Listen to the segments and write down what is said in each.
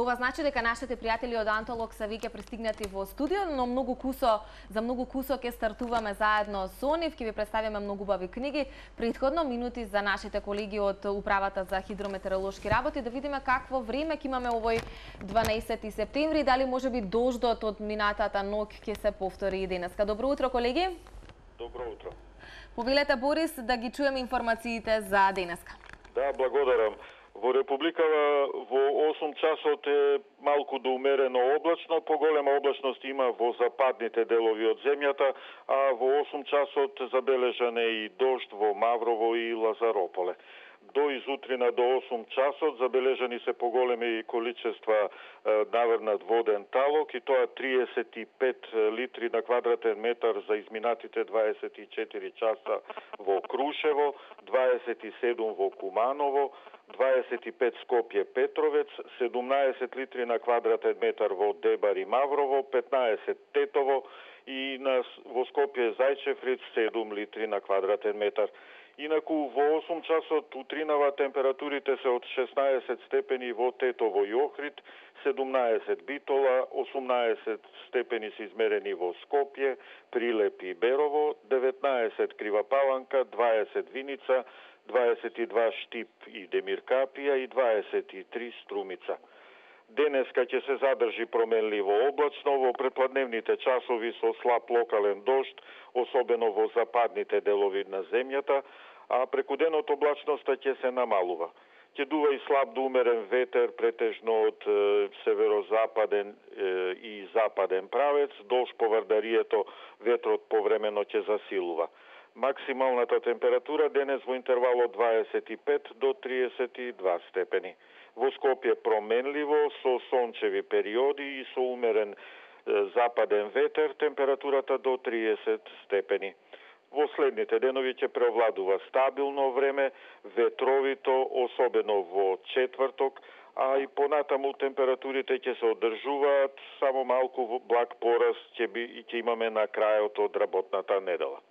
ова значи дека нашите пријатели од Антолог се веќе пристигнати во студио, но за многу кусо ќе стартуваме заедно со нив, ќе ви представиме многу убави книги. Предходно минути за нашите колеги од Управата за хидрометеоролошки работи да видиме какво време ќе имаме овој 12 септември, дали можеби дождот од минатата ноќ ќе се повтори и денеска. Добро утро, колеги. Добро утро. Повелете, Борис, да ги чуеме информациите за денеска. Да, благодарам. Во Републикава во 8 часот е малку до умерено облачно, поголема облачност има во западните делови од земјата, а во 8 часот забележан е и дожд во Маврово и Лазарополе. До изутрина до 8 часот забележани се поголеми количества наврнат воден талок и тоа 35 литри на квадратен метар за изминатите 24 часа во Крушево, 27 во Куманово, 25 Скопје Петровец, 17 литри на квадратен метар во Дебар и Маврово, 15 Тетово и во Скопје Зајчевриц 7 литри на квадратен метар. Инаку во 8 часот утринава температурите се од 16 степени во Тетово и Охрид, 17 Битола, 18 степени се измерени во Скопје, Прилеп и Берово, 19 Крива Паланка, 20 Виница, 22 Штип и Демиркапија и 23 Струмица. Денеска ќе се задржи променливо облачно во предпладневните часови со слаб локален дожд, особено во западните делови на земјата, а преку денот облачноста ќе се намалува. Ќе дува и слаб до умерен ветер, претежно од северозападен и западен правец, долж поврдарието ветрот повремено ќе засилува. Максималната температура денес во интервал од 25 до 32 степени. Во Скопје променливо, со сончеви периоди и со умерен западен ветер, температурата до 30 степени. Во следните денови ќе преовладува стабилно време, ветровито, особено во четврток, а и понатаму температурите ќе се одржуваат, само малку благ пораст ќе имаме на крајот од работната недела.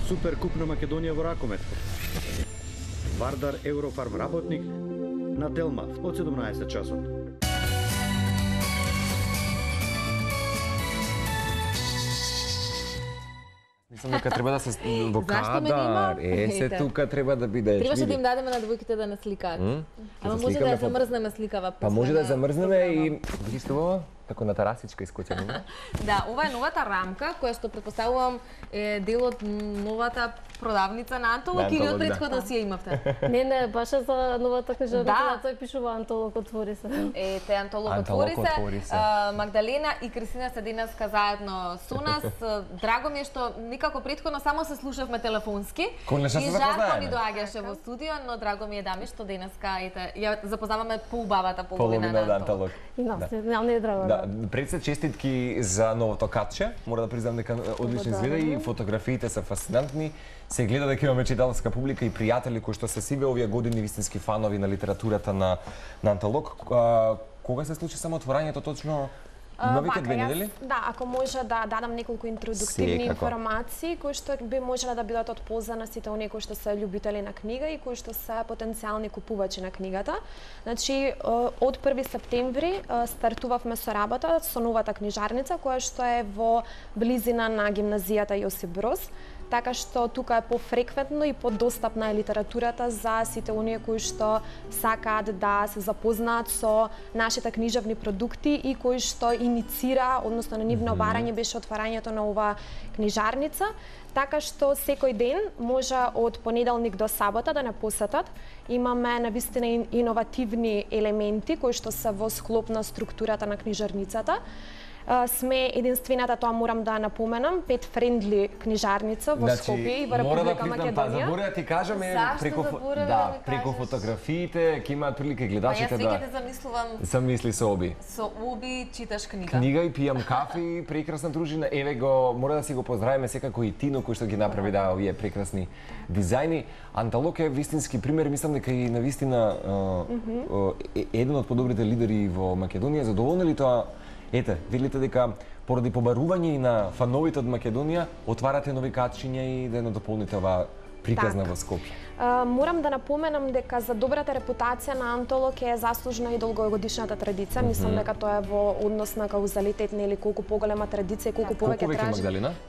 Суперкуп на Македонија во ракомет. Вардар Еврофарм работник на Телмав од 17 часот. Мислам дека треба да се во кадар. Се тука треба да бидеш. Требаше да им дадеме на двојките да насликаат. Ама може да ја замрзнеме сликава. Па може да ја замрзнеме и видиш ова? Како на тарасичка искочена. Да, ова е новата рамка која што претпоставувам е дел од новата продавница на Антолог или од претходно си ја имавте? Не, баш за новата книжарница, тој пишува Антолог отвори се. Ете, Антолог отвори се. Магдалена и Кристина се денеска заедно со нас. Драго ми е што никако претходно само се слушавме телефонски. И жарко ни доаѓаше во студио, но драго ми е дами што денеска ја запознаваме поубавата половина на Антолог. И нас не е драго. Пред се честитки за новото катче. Мора да признам дека одлично изгледа и фотографиите се фасцинантни. Се гледа дека имаме читалска публика и пријатели кои што се сиве овие години вистински фанови на литературата на Антолог. Кога се случи само отворањето точно? Новите 2 недели? Да, ако може да дадам неколку интродуктивни информации кои што би можеле да бидат од полза на сите оние кои што се љубители на книга и кои што се потенцијални купувачи на книгата. Значи, од 1 септември стартувавме со работа со новата книжарница која што е во близина на гимназијата Јосип Броз. Така што тука е пофреквентно и подостапна е литературата за сите оние кои што сакаат да се запознаат со нашите книжевни продукти и кои што иницира, односно на нивно барање беше отварањето на ова книжарница. Така што секој ден може од понеделник до сабота да не посетат. Имаме навистина иновативни елементи кои што се во склоп на структурата на книжарницата. Сме единствената, тоа морам да напоменам, pet friendly книжарница во Скопје и во Република Македонија. Заборя да ти кажаме преку фотографиите, ќе имаат прилика гледачите да. Јас веќе те замислувам. Замисли со Оби. Со Оби читаш книга. Книга и пијам кафе, прекрасна дружина. Еве го, мора да си го поздравиме секако и Тино кој што ги направи овие прекрасни дизајни. Анталок е вистински пример, мислам дека и навистина еден од подобрите лидери во Македонија. Задоволни ли тоа? Ете, видите дека поради побарување и на фановите од Македонија отварате нови качиња и да надополните оваа приказна во Скопје. Морам да напоменам дека за добрата репутација на Антолок е заслужна и долгогодишната традиција. Мислам дека тоа е во однос на каузалитет, нели колку поголема традиција, колку повеќе тражи.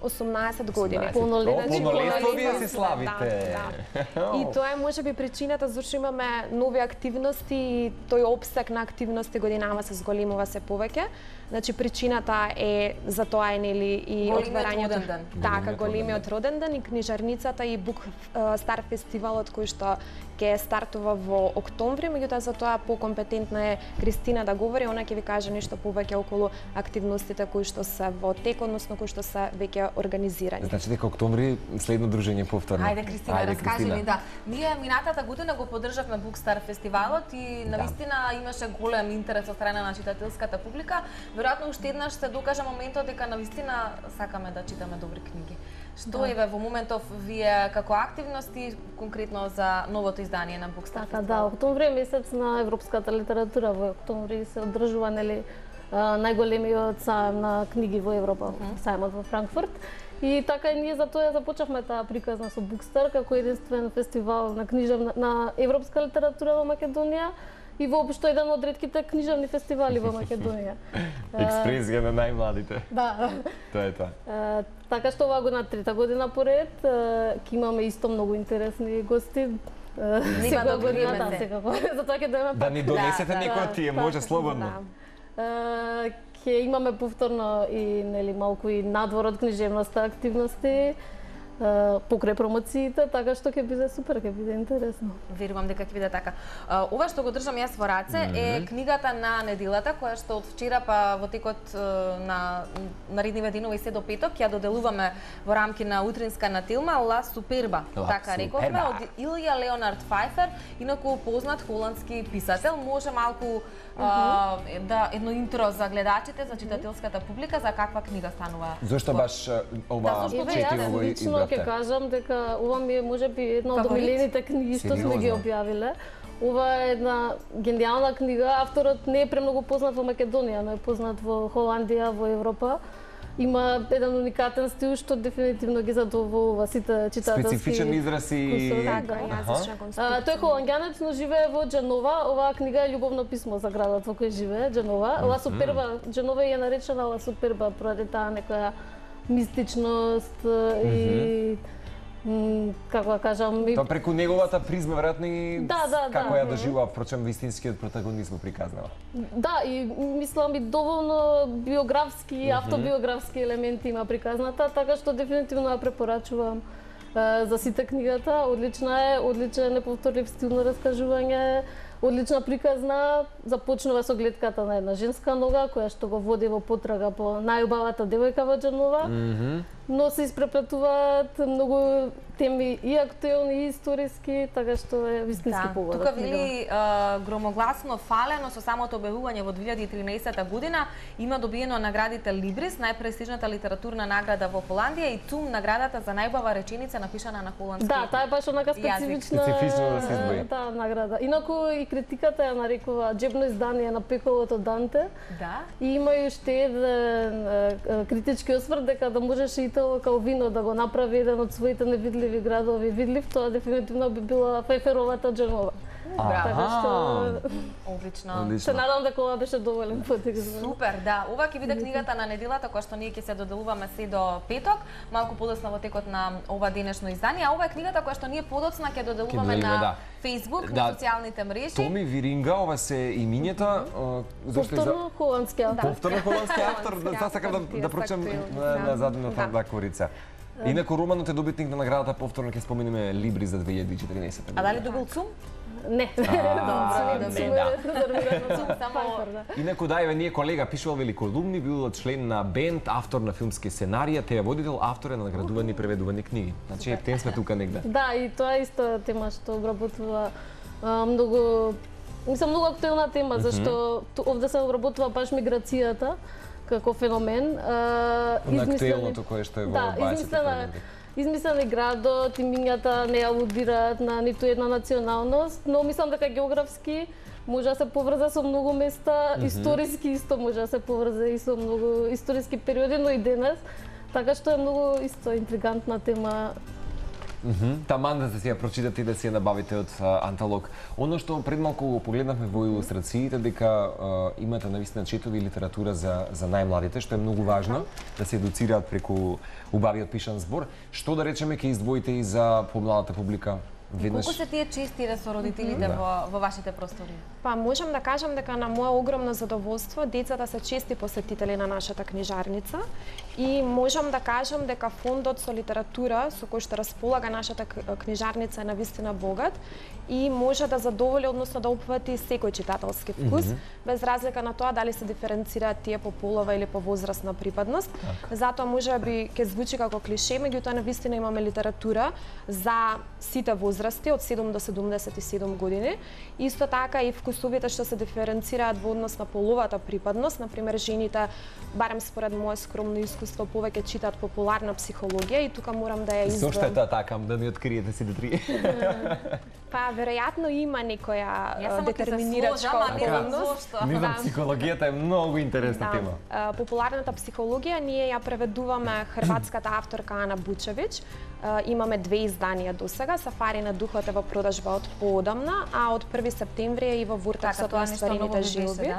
18 години. Полнолетство вие си славите. И тоа е можеби причината зашто имаме нови активности и тој опсек на активности годинава се зголемува се повеќе. Значи причината е за тоа е нели и отварањето. Така, големиот роден ден и книжарницата и Бук Стар фестивалот кој што ќе стартува во октомври, меѓутоа за тоа покомпетентна е Кристина да говори, она ќе ви каже нешто повеќе околу активностите кои што се во тек, односно кои што се веќе организирани. Значи дека октомври следно дружење повторно. Ајде Кристина, раскажи ми, да. Ние минатата година го поддржавме Бук Стар фестивалот и навистина имаше голем интерес од страна на читателската публика. Веројатно уште еднаш се докажа моментот дека навистина сакаме да читаме добри книги. Што еве во моментов вие како активности конкретно за новото издание на Бук Стар фестивал? Да, октомври е месец на европската литература. Во октомври се одржува нели најголемиот сајм на книги во Европа, сајмот во Франкфурт. И така и ние за тоа започнавме таа приказна со Бук Стар како единствен фестивал на книжевна на европска литература во Македонија. И воопшто еден од ретките книжевни фестивали во Македонија. Експресија на најмладите. Да. Тоа е тоа. Така што оваа година, трета година поред, ќе имаме исто многу интересни гости. Нема да година, секако. Затоа ќе дојдеме. Да ни донесете некој од тие, може слободно. Ќе имаме повторно и нели малку и надвор од книжевноста активности. Покрај промоциите, така што ќе биде супер, ќе биде интересно. Верувам дека ќе биде така. Ова што го држам јас во раце е книгата на неделата, која што од вчера па во текот на наредниве денови се до петок ја доделуваме во рамки на утринска на Телма Ла Суперба, така рековме, од Илја Леонард Фајфер, инаку познат холандски писател. Може малку да едно интро за гледачите, за читателската публика, за каква книга станува? Зошто баш ова четиво избравте? Ќе кажам дека ова ми е можеби една од омилените книги што сме ги објавиле. Ова е една гениална книга. Авторот не е премногу познат во Македонија, но е познат во Холандија, во Европа. Има еден уникатен стил што дефинитивно ги задоволува сите читателски. Специфичен израз и тој е холанѓанец, но живее во Џенова. Оваа книга е љубовно писмо за градот во кој живее, Џенова. Ла Суперба, Џенова е наречена Ла Суперба поради таа некоја мистичност и како да кажам, тоа преку неговата призма веројатно и како ја доживува впрочем вистинскиот протагонист во приказнава. Да, и мислам и доволно биографски, автобиографски елементи има приказната, така што дефинитивно ја препорачувам за сите книгата. Одлична е, одличен неповторлив стил на раскажување, одлична приказна, започнува со гледката на една женска нога која што го води во потрага по најубавата девојка во Џенова, но се испреплетуваат многу теми и актуелни и историски, така што е вистински погода. Тука вели громогласно фалено со самото објавување во 2013 година има добиено наградите Либрис, најпрестижната литературна награда во Холандија и ТУМ наградата за најубава реченица напишана на холандски. Да, таа е баш онака специфична. Специфично да се изброи. Да, награда. Инаку и критиката ја нарекува џебно издание на Пеколото Данте. Да. И има и уште еден критички осврт дека да можеше Итало Калвино да го направи еден од своите невидливи градови видлив, тоа дефинитивно би била Фајферовата Џенова. Така што одлично. Се надам дека ова беше доволен потекст. Супер, да. Ова ќе биде книгата на неделата која што ние ќе се доделуваме се до петок, малку подоцна во текот на ова денешно издание. А ова е книгата која што ние подоцна ќе доделуваме на Facebook, на социјалните мрежи. Томи Виринга, ова се имињата. Повторно холандски автор. Повторно холандски автор, да сакам да прочитам на задната корица. Инаку романот е добитник на наградата, повторно ќе споминеме Либри за 2014 година. А дали добил ЦУМ? Не. Инаку да, еве ние колега пишувал великолумни, бил член на бенд, автор на филмски сценарија, теја водител, автор на наградувани и преведувани книги. Значи, ептен сме тука негде. Да, и тоа е исто тема што обработува многу, мислам, многу актуелна тема, зашто овде се обработува баш миграцијата како феномен. Актуелното кое што е во 20 измислени градот, имињата не алудираат на ниту една националност, но мислам дека географски може да се поврза со многу места, историски исто може да се поврза и со многу историски периоди, но и денес, така што е многу исто интригантна тема. Таман да се ја прочитате и да се ја набавите од Анталог. Оно што пред малку го погледнавме во илустрациите, дека имате навистина четови литература за најмладите, што е многу важно да се едуцираат преку убавиот пишан збор. Што да речеме ќе издвоите и за помладата публика? Колку се тие чести со родителите во вашите простори? Па можам да кажам дека на мое огромно задоволство децата се чести посетители на нашата книжарница и можам да кажам дека фондот со литература со кој што располага нашата книжарница е навистина богат и може да задоволи, односно да опфати секој читателски вкус, без разлика на тоа дали се диференцираат тие по полова или по возрастна припадност. Затоа може би ќе звучи како клише, меѓутоа навистина имаме литература за сите возрасти од 7 до 77 години. Исто така и вкусовите што се диференцираат во однос на половата припадност, например жените, барем според мое скромно искуство, повеќе читаат популарна психологија и тука морам да ја издвојам. Зошто е тоа така, да ни откриете сите три? Па веројатно има некоја детерминирачка околност. Не знам, психологијата е многу интересна тема. Популарната психологија ние ја преведуваме хрватската авторка Ана Бучевич. Имаме 2 изданија досега. Сафари на духот е во продажба од поодамна, а од 1 септември е и во Вуртексот на стварените жилби.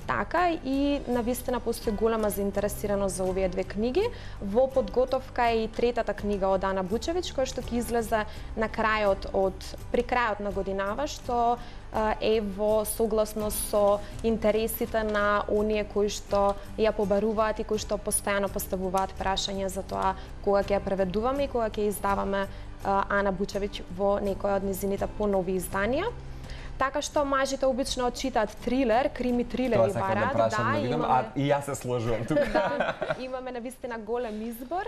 Така и навистина постои голема заинтересираност за овие две книги. Во подготовка е и третата книга од Ана Бучевич, која што ќе излезе на при крајот на годинава, што е во согласност со интересите на оние кои што ја побаруваат и кои што постојано поставуваат прашања за тоа кога ќе ја преведуваме и кога ќе издаваме Ана Бучевич во некоја од низините понови изданија. Така што мажите обично читаат трилер, крими трилери барат, и јас се сложувам тука. Имаме навистина голем избор.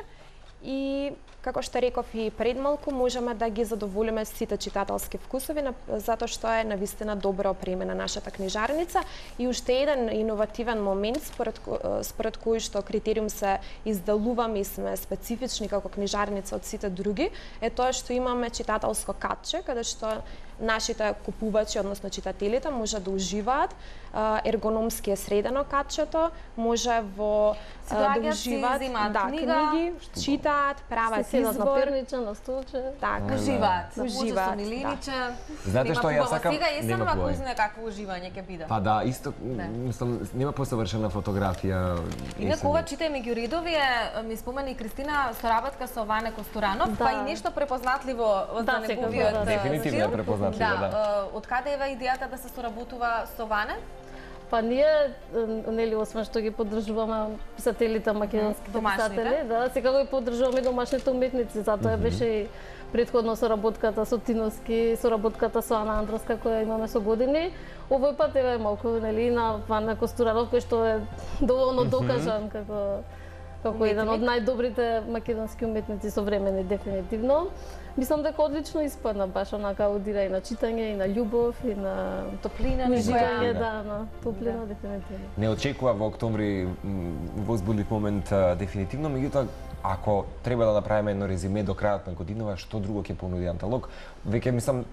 И, како што реков и пред малку, можеме да ги задоволиме сите читателски вкусови, затоа што е навистина добро опремена нашата книжарница. И уште еден иновативен момент, според кој што критериум се издалуваме и сме специфични како книжарница од сите други, е тоа што имаме читателско катче, каде што нашите купувачи, односно читателите, може да уживаат. Ергономски е средено катчето, може да уживаат книги, читаат, прават избор. На столче. Така. Уживаат. Знаете што ја сакам? Сега есен ваку знае какво уживање ќе биде. Па да, исто, мислам, нема посовршена фотографија. Инаку ова читај меѓу редови ми спомени Кристина соработка со Ване Костуранов, па и нешто препознатливо за неговиот стил. Дефинитивно е препознатливо, да. Од каде ева идејата да се соработува со Ване? Па ние, нели, освен што ги поддржуваме писателите, македонските писатели, да, секако ги поддржуваме домашните уметници, затоа беше и претходно соработката со Тиновски, соработката со Ана Андроска која имаме со години. Овој пат е малку, нели, на Вана Костуранов кој што е доволно докажан како еден од најдобрите македонски уметници современи, дефинитивно. Мислам дека одлично испадна, баш онака аудира и на читање, и на љубов, и на топлина, уживање, на топлина, дефинитивно. Не очекува во октомври возбудлив момент дефинитивно, меѓутоа ако треба да направиме едно резиме до крајот на годинава, што друго ќе понуди Анталог? Веќе мислам,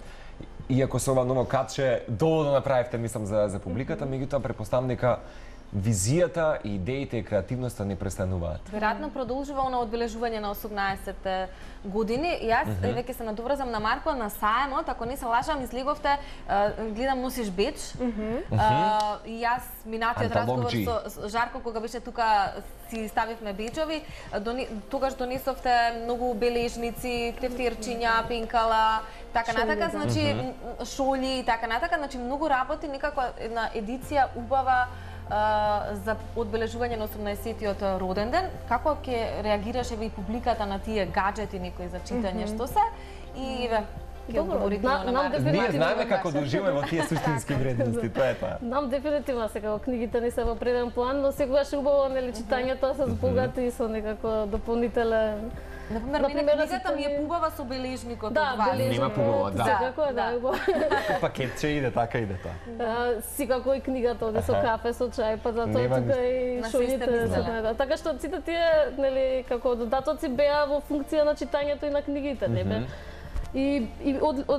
иако со ова ново катче доволно направивте, мислам, за публиката, меѓутоа претпоставам дека визијата, идеите и креативноста не престануваат. Веројатно продолжува на одбележување на 18 години. Јас веќе се надоврзам на Марко на саемот, ако не се лажам, излеговте, гледам носиш беч. И јас минатиот разговор со Жарко кога беше тука си ставивме беџови, тогаш донесовте многу бележници, тефтерчиња, пенкала, така натака, значи шоли и така натака, значи многу работи, некако една едиција убава за одбележување на 18-тиот роден ден. Како ќе реагираше и публиката на тие гаджети некои за читање што се? И ќе одговорите на Ние знаеме како да уживаме во тие суштински вредности, тоа е тоа. Нам дефинитивно секако книгите не се во преден план, но секогаш е убаво нели читањето се збогати и со некако дополнителен. Например, книгата ми е пубава со бележникот од вас. Нема пубава, да. Секако да. Пакетче иде така иде тоа. Секако и книгата оди со кафе, со чај, па затоа тука и шоите се така. Така што сите тие нели како додатоци беа во функција на читањето и на книгите, не бе. И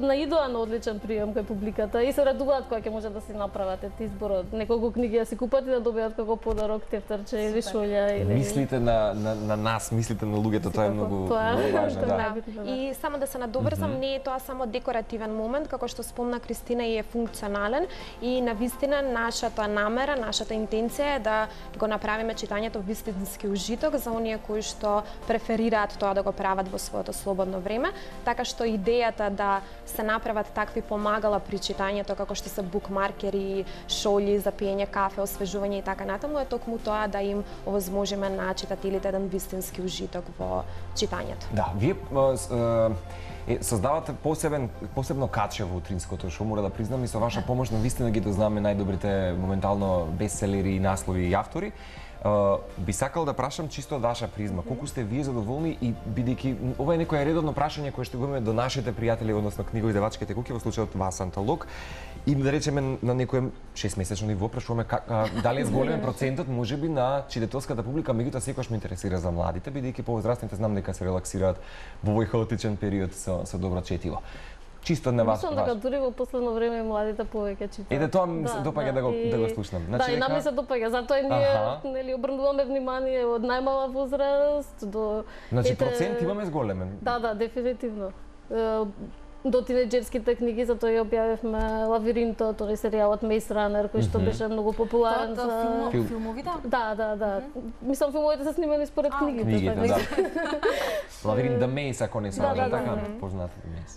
наидоа на одличен прием кај публиката и се радуваат кога ќе може да си направат изборот. Неколку книги да си купат и да добијат како подарок тефтерче или шолја или мислите на нас, мислите на луѓето, тоа е многу важно, да. И само да се надоврзам, не е тоа само декоративен момент, како што спомна Кристина, и е функционален и навистина нашата намера, нашата интенција е да го направиме читањето вистински ужиток за оние кои што преферираат тоа да го прават во своето слободно време, така што идејата да се направат такви помагала при читањето, како што се букмаркери, шолји за пиење кафе, освежување и така натаму, е токму тоа да им овозможиме на читателите еден вистински ужиток во читањето. Да, вие создавате посебно каче во утринското шоу, мора да признам, и со ваша помош навистина ги дознаме најдобрите моментално бестселери, наслови и автори. Би сакал да прашам чисто од ваша призма, колку сте вие задоволни и бидејќи ова е некое редовно прашање кое што го имаме до нашите пријатели, односно книгоиздавачките куќи, во случајот вас Анталог, и да речеме на некое 6-месечно ниво прашуваме дали е зголемен процентот можеби на читателската публика, меѓутоа секогаш ме интересира за младите, бидејќи повозрастните знам дека се релаксираат во овој хаотичен период со добро четиво. Чисто на вас. Мислам дека дури во последно време младите повеќе читаат. Еде тоа ми се допаѓа да го слушнам. Да, и нам ми се допаѓа, затоа и ние нели обрнуваме внимание од најмала возраст до Значи процент имаме зголемен. Да, дефинитивно. До тинеџерските книги, затоа ја објавивме Лавиринто, тој серијалот Maze Runner, кој што беше многу популарен за филмовите? Да. Мислам филмовите се снимани според книгите. Книгите, да. Лавиринт The Maze, ако не се лажам, така познат The Maze.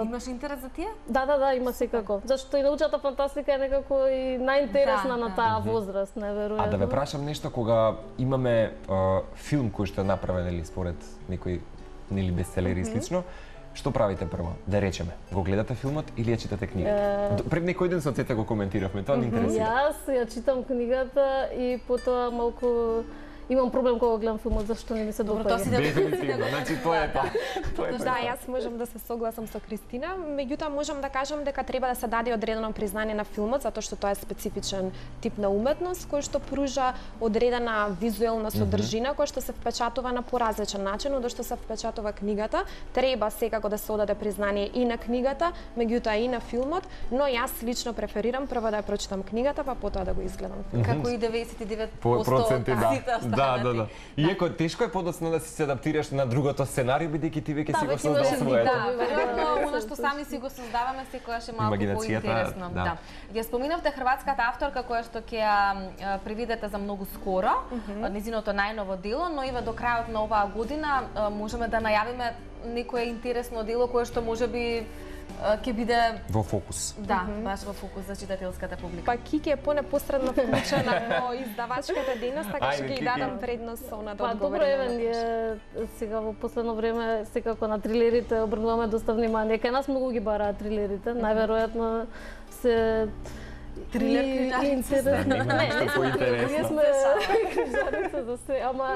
Имаш интерес за тие? Да, има секако. Зашто и научната фантастика е некако и најинтересна на таа возраст, неверојатно. А да ве прашам нешто, кога имаме филм кој што е направен или според некој нели бестселери и слично, што правите прво? Да речеме, го гледате филмот или ја читате книгата? Пред некој ден со Цета го коментиравме, тоа не интересира. Јас ја читам книгата и потоа малку имам проблем кога гледам филмот, зашто не ми се допаѓа. Дефинитивно, значи тоа е тоа. Да, јас можам да се согласам со Кристина, меѓутоа можам да кажам дека треба да се даде одредено признание на филмот, затоа што тоа е специфичен тип на уметност кој што пружа одредена визуелна содржина која што се впечатува на поразличен начин од што се впечатува книгата. Треба секако да се одаде признание и на книгата, меѓутоа и на филмот, но јас лично преферирам прво да ја прочитам книгата, па потоа да го изгледам филмот. Како и 99% Да. Иако тешко е подоцна да си се адаптираш на другото сценарио, бидејќи ти веќе си го создал своето. Да, веројатно она што сами си го создаваме секогаш е малку поинтересно. Да. Ја споминавте хрватската авторка која што ќе ја привидете за многу скоро, незиното најново дело, но ива до крајот на оваа година можеме да најавиме некое интересно дело кое што можеби ќе биде во фокус. Да, баш во фокус за читателската публика. Па Кики е понепосредно вклучена во издавачката дейност, така што ќе дадам предност со она да одговори. Добро, еве ние сега во последно време секако на трилерите обрнуваме доста внимание. Кај нас многу ги бараат трилерите, најверојатно се трилер книжарица. Не, поинтересно. Ние сме книжарица за се, ама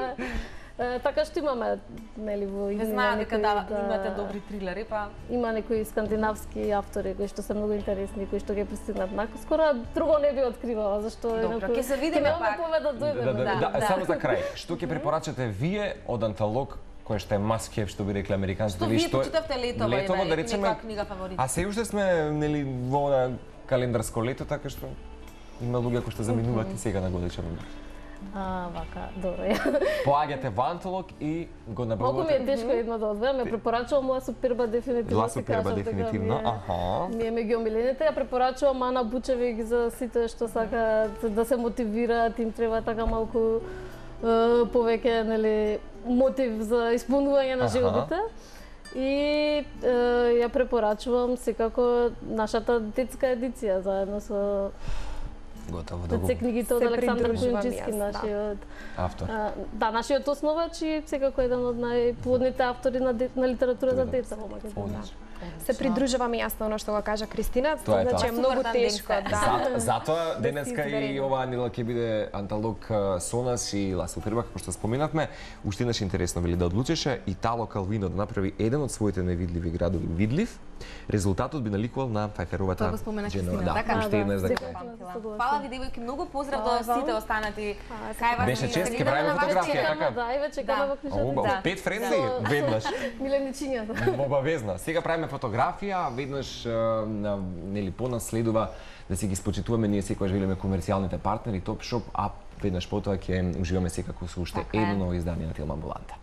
така што имаме, нели, во игри. Знаам дека имате добри трилери, па има некои скандинавски автори кои што се многу интересни, кои што ги пристигнат наскоро, друго не би откривала, зашто добро, ќе се видиме пак. Да, само за крај, што ќе препорачате вие од Анталог, кој што е must have, што би рекли американците, ви што почитавте летово, да речеме, книга фаворит. А се уште сме, нели, во календарско лето, така што има луѓе кои што заминуваат и сега на годишен одмор. Вака, добро. Поаѓате во Анталог и го набавувате. Малку ми е тешко едно да одвојам, ме препорачувам Ла Суперба дефинитивно. Ла Суперба дефинитивно, Ми е меѓу омилените, ја препорачувам Ана Бучевик за сите што сакаат да се мотивираат, им треба така малку повеќе, нели, мотив за исполнување на желбите. И ја препорачувам секако нашата детска едиција заедно со Готово, да се книгите од Се Александар придружувам Којунчиски, јас, да. нашиот автор. Да, нашиот основач и секако еден од најплодните автори на литература за деца во Македонија. Се придружувам и јас на оно што го кажа Кристина, Тоа е значи тоа. е многу Супер тешко, тенденција. да. Затоа денеска и изберени. оваа недела ќе биде анталог со нас и Ласо Фирба, како што споменавме. Уште еднаш интересно вели да одлучеше Итало Калвино да направи еден од своите невидливи градови видлив. Резултатот би наликувал на Фајферовата Тоа го спомена Кристина, Да, така? уште еднаш да Секако кажам. се согласувам. Фала ви, девојки, многу поздрав до сите останати. Кај вас Беше ми чест, се ќе гледа правиме на вашите фотографија, камери. така? Да, и ве чекаме во книжата. Оба, пет френдли, веднаш. Миленичињата. Обавезно. Сега правиме фотографија, веднаш нели понас следува да си ги спочитуваме ние секогаш велиме комерцијалните партнери Top Shop, а веднаш потоа ќе уживаме секако со уште Така е. едно ново издание на филм Амбуланта.